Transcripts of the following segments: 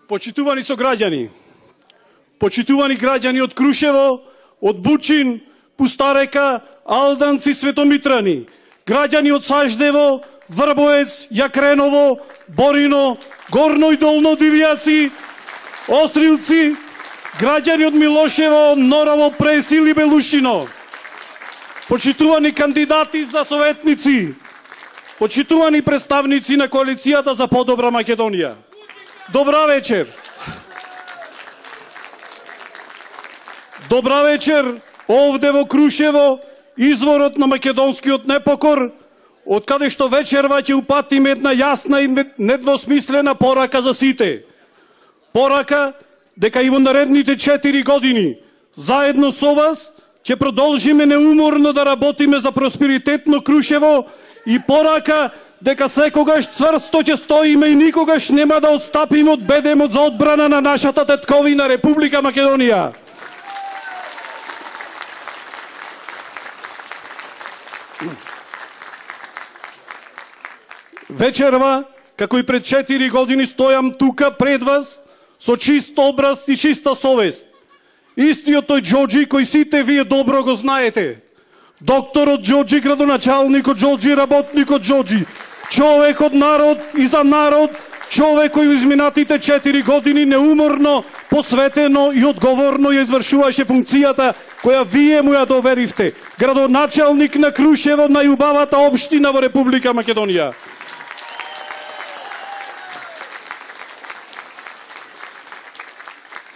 Почитувани сограѓани, почитувани граѓани од Крушево, од Бучин, Пустарека, Алданци, Светомитрани, граѓани од Саждево, Врбоец, Јакреново, Борино, Горно и Долно Дивјаци, Острилци, граѓани од Милошево, Норово, Пресил и Белушино, почитувани кандидати за советници, почитувани представници на коалицијата за подобра Македонија. Добра вечер. Добра вечер овде во Крушево, изворот на македонскиот непокор, од каде што вечерва ќе упатиме една јасна и недвосмислена порака за сите. Порака дека и во наредните 4 години, заедно со вас, ќе продолжиме неуморно да работиме за просперитетно Крушево и порака дека секогаш цврсто ќе стоиме и никогаш нема да отстапиме од бедемот за одбрана на нашата тетковина Република Македонија. Вечерва, како и пред 4 години, стојам тука пред вас со чист образ и чиста совест. Истиот тој Џоџи кој сите вие добро го знаете. Докторот Џоџи, градоначалникот Џоџи, работникот Џоџи, човек од народ и за народ, човек кој изминатите 4 години неуморно, посветено и одговорно ја извршуваше функцијата која вие му ја доверивте. Градоначалник на Крушево, најубавата општина во Република Македонија.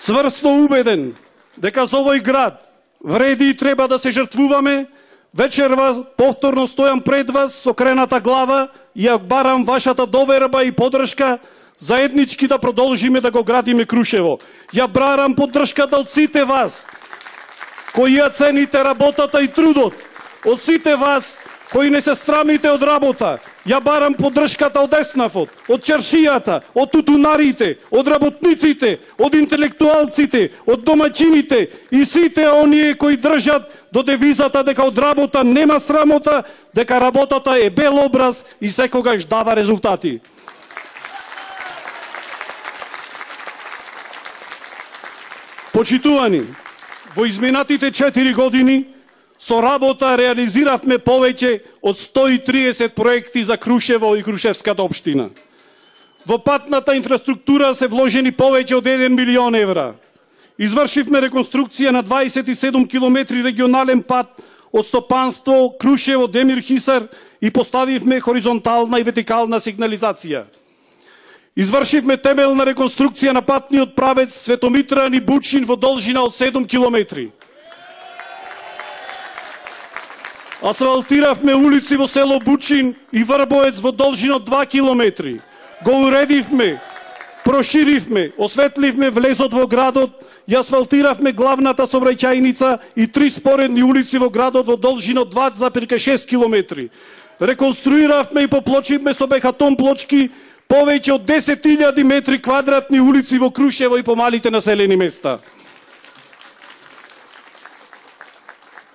Цврсто убеден дека за овој град вреди и треба да се жртвуваме, вечерва повторно стојам пред вас со крената глава и ја барам вашата доверба и поддршка заеднички да продолжиме да го градиме Крушево. Ја барам поддршката од сите вас кои ја цените работата и трудот, од сите вас кои не се срамите од работа. Ја барам поддршката од еснафот, од чаршијата, од тутунарите, од работниците, од интелектуалците, од домаќините и сите оние кои држат до девизата дека од работа нема срамота, дека работата е бел образ и секогаш дава резултати. Почитувани, во изминатите 4 години со работа реализиравме повеќе од 130 проекти за Крушево и Крушевската општина. Во патната инфраструктура се вложени повеќе од 1 милион евра. Извршивме реконструкција на 27 километри регионален пат од Стопанство, Крушево, Демир Хисар и поставивме хоризонтална и вертикална сигнализација. Извршивме темелна реконструкција на патниот правец Светомитрани Бучин во должина од 7 километри. Асфалтиравме улици во село Бучин и Врбоец во должина од 2 километри. Го уредивме, проширивме, осветливме влезот во градот и асфалтиравме главната сообраќајница и 3 споредни улици во градот во должина од 2,6 километри. Реконструиравме и поплочивме со бехатон плочки повеќе од 10.000 метри квадратни улици во Крушево и помалите населени места.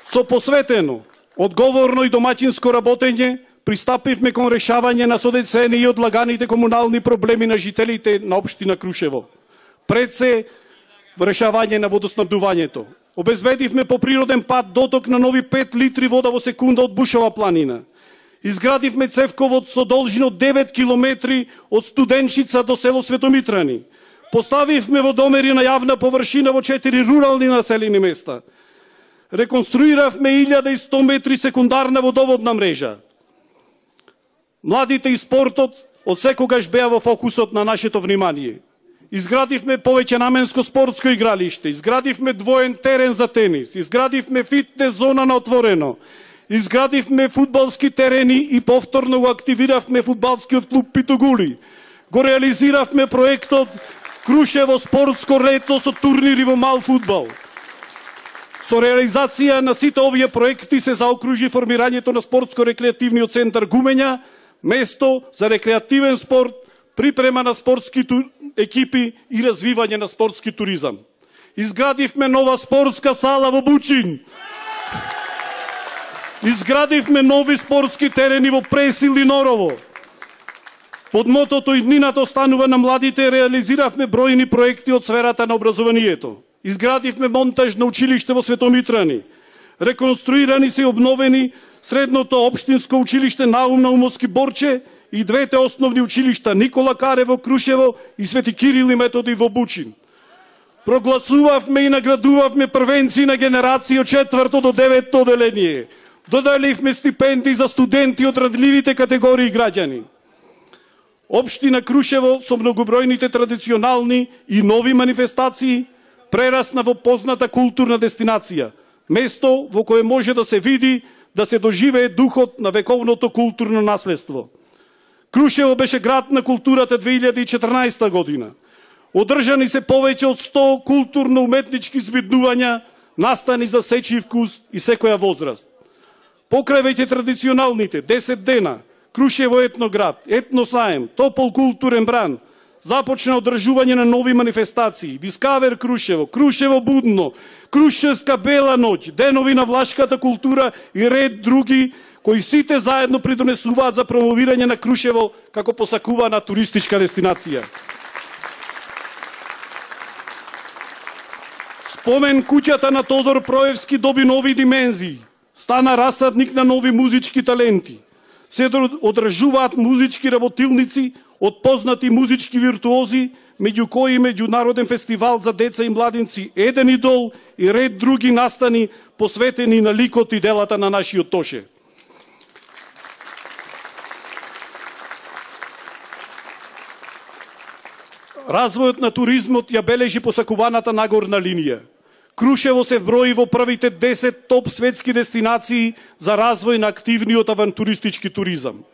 Со посветено, одговорно и домаќинско работење, пристапивме кон решавање на содецени и одлаганите комунални проблеми на жителите на општина Крушево. Пред се решавање на водоснабдувањето. Обезбедивме по природен пат доток на нови 5 литри вода во секунда од Бушова планина. Изградивме цевковод со должина од 9 километри од Студенчица до село Светомитрани. Поставивме водомери на јавна површина во 4 рурални населени места. Реконструиравме 1100 метри секундарна водоводна мрежа. Младите и спортот од секогаш беа во фокусот на нашето внимание. Изградивме повеќе наменско спортско игралиште, изградивме двоен терен за тенис, изградивме фитнес зона на отворено, изградивме фудбалски терени и повторно го активиравме фудбалскиот клуб Питогули. Го реализиравме проектот Крушево спортско лето со турнири во мал фудбал. Со реализација на сите овие проекти се заокружи формирањето на спортско-рекреативниот центар Гумења, место за рекреативен спорт, припрема на спортски екипи и развивање на спортски туризам. Изградивме нова спортска сала во Бучин. Изградивме нови спортски терени во Пресил и Норово. Под мотото "Иднината останува на младите" реализиравме бројни проекти од сферата на образованието. Изградивме монтажно училиште во Светомитрани. Реконструирани се и обновени средното општинско училиште Наум Наумовски Борче и двете основни училишта Никола Карево Крушево и Свети Кирил и Методи во Бучин. Прогласувавме и наградувавме првенци на генерации од 4 до 9 оделение. Доделивме стипендии за студенти од радливите категории граѓани. Општина Крушево со многобројните традиционални и нови манифестации прерасна во позната културна дестинација, место во кое може да се види, да се доживее духот на вековното културно наследство. Крушево беше град на културата 2014 година. Одржани се повеќе од 100 културно-уметнички збиднувања, настани за сечи вкус и секоја возраст. Покрај веќе традиционалните 10 дена, Крушево етноград, етносаем, топол културен бран, започна одржување на нови манифестации, Дискавер Крушево, Крушево Будно, Крушевска Бела ноќ, денови на влашката култура и ред други, кои сите заедно придонесуваат за промовирање на Крушево како посакувана туристичка дестинација. Спомен куќата на Тодор Проевски доби нови димензии, стана расадник на нови музички таленти. Се одржуваат музички работилници од познати музички виртуози, меѓу кои меѓународен фестивал за деца и младинци Еден идол и ред други настани посветени на ликот и делата на нашиот Тоше. Развојот на туризмот ја бележи посакуваната нагорна линија. Крушево се вброи во првите 10 топ светски дестинации за развој на активниот авантуристички туризам.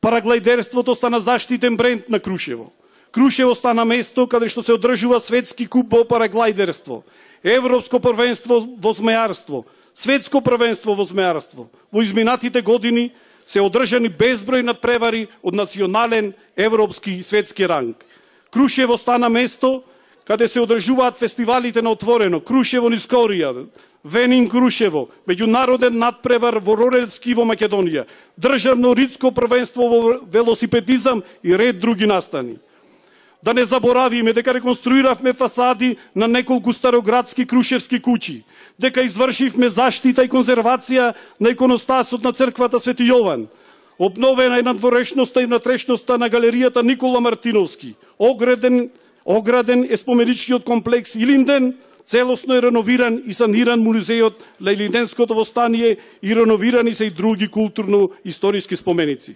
Параглайдерството стана заштитен бренд на Крушево. Крушево стана место каде што се одржува светски куп во параглайдерство, европско првенство во змејарство, светско првенство во змејарство. Во изминатите години се одржани безброј надпревари од национален, европски и светски ранг. Крушево стана место каде се одржуваат фестивалите на отворено, Крушево низ Корија, Венин Крушево, меѓународен надпревар во Рорелски во Македонија, државно ридско првенство во велосипедизам и ред други настани. Да не заборавиме дека реконструиравме фасади на неколку староградски крушевски куќи, дека извршивме заштита и конзервација на иконостасот на црквата Свети Јован, обновена е надворешноста и внатрешноста на галеријата Никола Мартиновски, ограден е споменичкиот комплекс Илинден, целосно е реновиран и саниран музејот на Илинденското востание и реновирани се и други културно-историски споменици.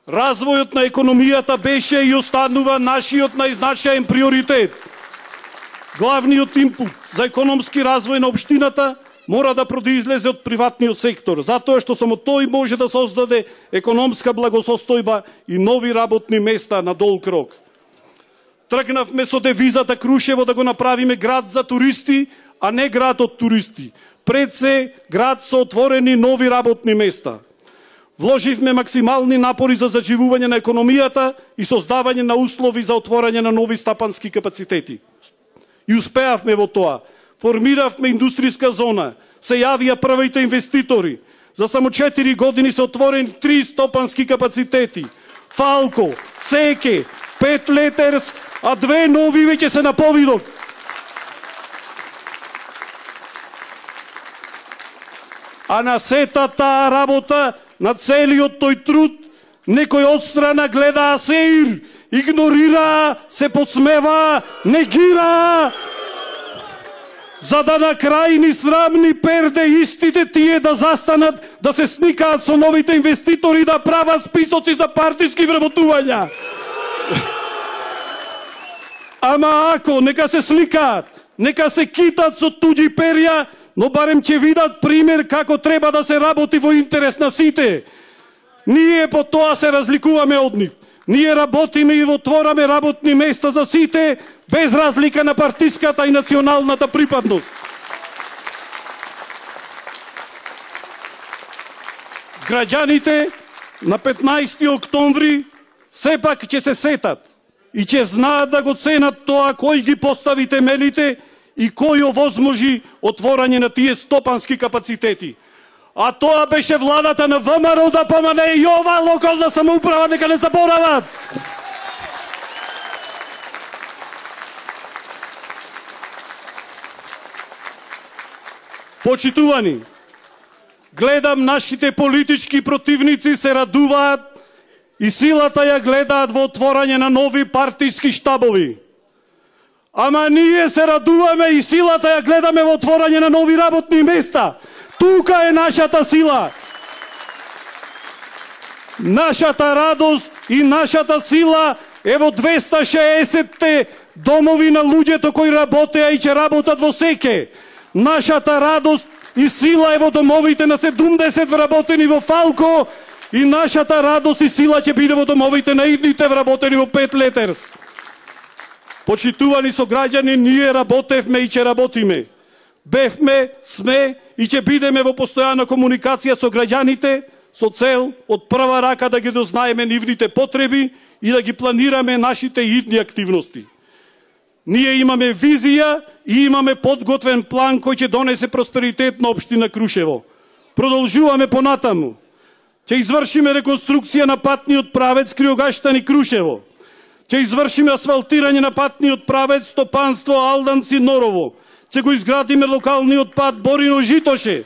Развојот на економијата беше и останува нашиот најзначаен приоритет. Главниот импут за економски развој на општината мора да произлезе од приватниот сектор, затоа што само тој може да создаде економска благосостојба и нови работни места на долг рок. Тргнавме со девизата Крушево да го направиме град за туристи, а не град од туристи. Пред се град со отворени нови работни места. Вложивме максимални напори за заживување на економијата и создавање на услови за отворање на нови стапански капацитети. И успеавме во тоа. Формиравме индустријска зона, се јавија првите инвеститори. За само 4 години се отворени 3 стопански капацитети. Фалко, Секе, 5 Летерс, а 2 нови веќе се на повидок. А на сета таа работа, на целиот тој труд, некој одстрана гледа сеир, игнорира, се подсмева, негира, за да на крај ни срамни перде истите тие да застанат, да се сникаат со новите инвеститори, да прават списоци за партиски вработувања. Ама ако, нека се сликаат, нека се китат со туѓи перја, но барем ќе видат пример како треба да се работи во интерес на сите. Ние по тоа се разликуваме од нив. Ние работиме и отвораме работни места за сите, без разлика на партиската и националната припадност. Граѓаните на 15 октомври сепак ќе се сетат и ќе знаат да го ценат тоа кој ги постави темелите и кој овозможи отворање на тие стопански капацитети. А тоа беше владата на ВМРО, ДПМН и ова локална самоуправа, нека не заборават. Почитувани, гледам нашите политички противници се радуваат и силата ја гледаат во отворање на нови партиски штабови. Ама ние се радуваме и силата ја гледаме во отворање на нови работни места. Тука е нашата сила. Нашата радост и нашата сила е во 260 домови на луѓето кои работеа и ќе работат во Секе. Нашата радост и сила е во домовите на 70 вработени во Фалко и нашата радост и сила ќе биде во домовите на идните вработени во 5 летерс. Почитувани сограѓани, ние работевме и ќе работиме. Бевме, сме и ќе бидеме во постојана комуникација со граѓаните со цел од прва рака да ги дознаеме нивните потреби и да ги планираме нашите идни активности. Ние имаме визија и имаме подготвен план кој ќе донесе просперитет на општина Крушево. Продолжуваме понатаму. Ќе извршиме реконструкција на патниот правец Криогаштани Крушево. Ќе извршиме асфалтирање на патниот правец Стопанство Алданци Норово. Ќе го изградиме локалниот пат Борино Житоше.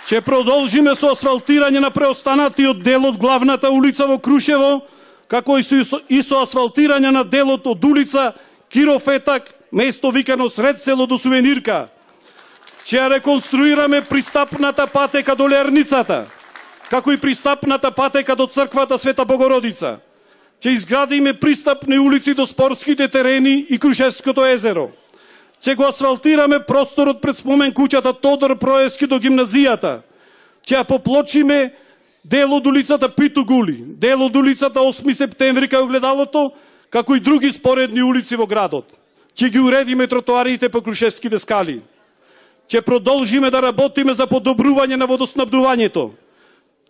Ќе продолжиме со асфалтирање на преостанатиот дел од главната улица во Крушево, како и со асфалтирање на делот од улица Киро Фетак, место викано сред село до Сувенирка. Ќе ја реконструираме пристапната патека до Лерницата, како и пристапната патека до црквата Света Богородица. Ќе изградиме пристапни улици до спортските терени и Крушевското езеро. Ќе го асфалтираме просторот пред спомен куќата Тодор Проески до гимназијата. Ќе ја поплочиме дел од улицата Питу Гули, дел од улицата 8 септември кај огледалото, како и други споредни улици во градот. Ќе ги уредиме тротоарите по Крушевските скали. Ќе продолжиме да работиме за подобрување на водоснабдувањето.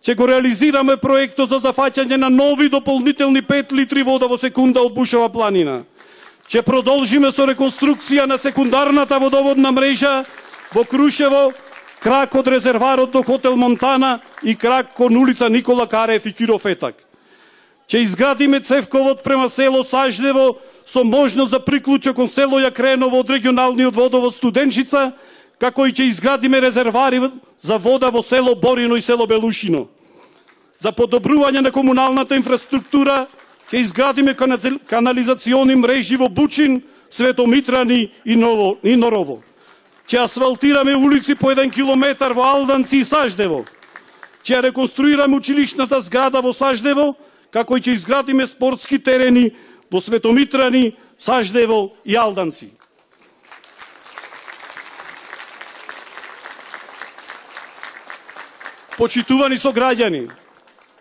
Ќе го реализираме проектот за зафаќање на нови дополнителни 5 литри вода во секунда од Бушова планина. Ќе продолжиме со реконструкција на секундарната водоводна мрежа во Крушево, крак од резерварот до хотел Монтана и крак кон улица Никола Карев и Киро Фетак. Ќе изградиме цевковод према село Саждево со можност за приклучок кон село Јакреново од регионалниот водовод Студенчица, како и ќе изградиме резервари за вода во село Борино и село Белушино. За подобрување на комуналната инфраструктура ќе изградиме канализациони мрежи во Бучин, Светомитрани и Норово. Ќе асфалтираме улици по 1 километар во Алданци и Саждево. Ќе реконструираме училишната зграда во Саждево, како и ќе изградиме спортски терени во Светомитрани, Саждево и Алданци. Почитувани сограѓани,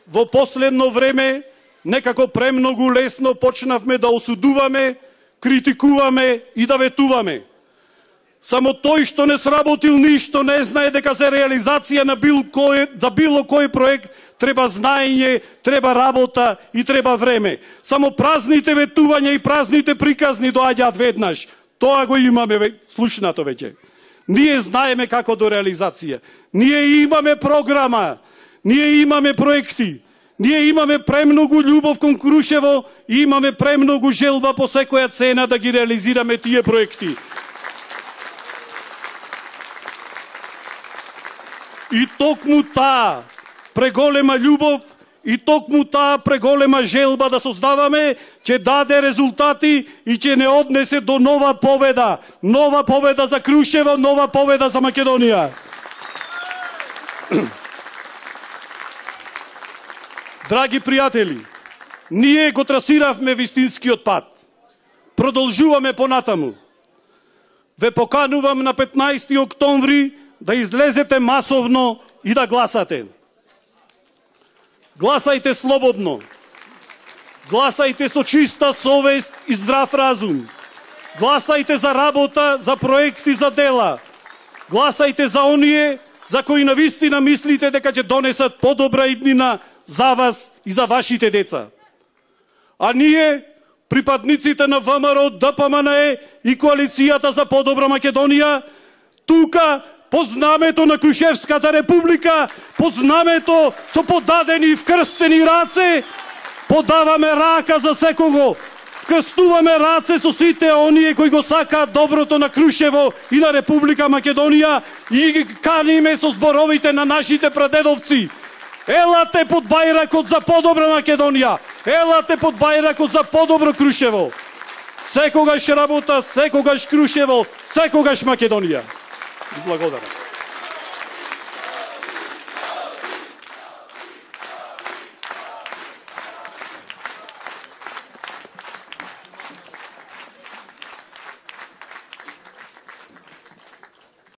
во последно време некако премногу лесно почнавме да осудуваме, критикуваме и да ветуваме. Само тој што не сработил ништо не знае дека за реализација на било кој проект треба знаење, треба работа и треба време. Само празните ветувања и празните приказни доаѓаат веднаш. Тоа го имаме слушнато веќе. Ние знаеме како до реализација. Ние имаме програма, ние имаме проекти, ние имаме премногу љубов кон Крушево и имаме премногу желба по секоја цена да ги реализираме тие проекти. И токму таа преголема љубов и токму таа преголема желба да создаваме ќе даде резултати и ќе не однесе до нова победа. Нова победа за Крушево, нова победа за Македонија. Драги пријатели, ние го трасиравме вистинскиот пат. Продолжуваме понатаму. Ве поканувам на 15 октомври да излезете масовно и да гласате. Гласајте слободно. Гласајте со чиста совест и здрав разум. Гласајте за работа, за проекти, за дела. Гласајте за оние за кои навистина мислите дека ќе донесат подобра иднина за вас и за вашите деца. А ние, припадниците на ВМРО, ДПМН и Коалицијата за подобра Македонија, тука, по знамето на Крушевската република, по знамето со подадени и вкрстени раце, подаваме рака за секого. Вкрстуваме раце со сите оние кои го сакаат доброто на Крушево и на Република Македонија и ги каниме со зборовите на нашите прадедовци. Елате под бајракот за подобра Македонија. Елате под бајракот за подобро Крушево. Секогаш работа, секогаш Крушево, секогаш Македонија. Благодарам.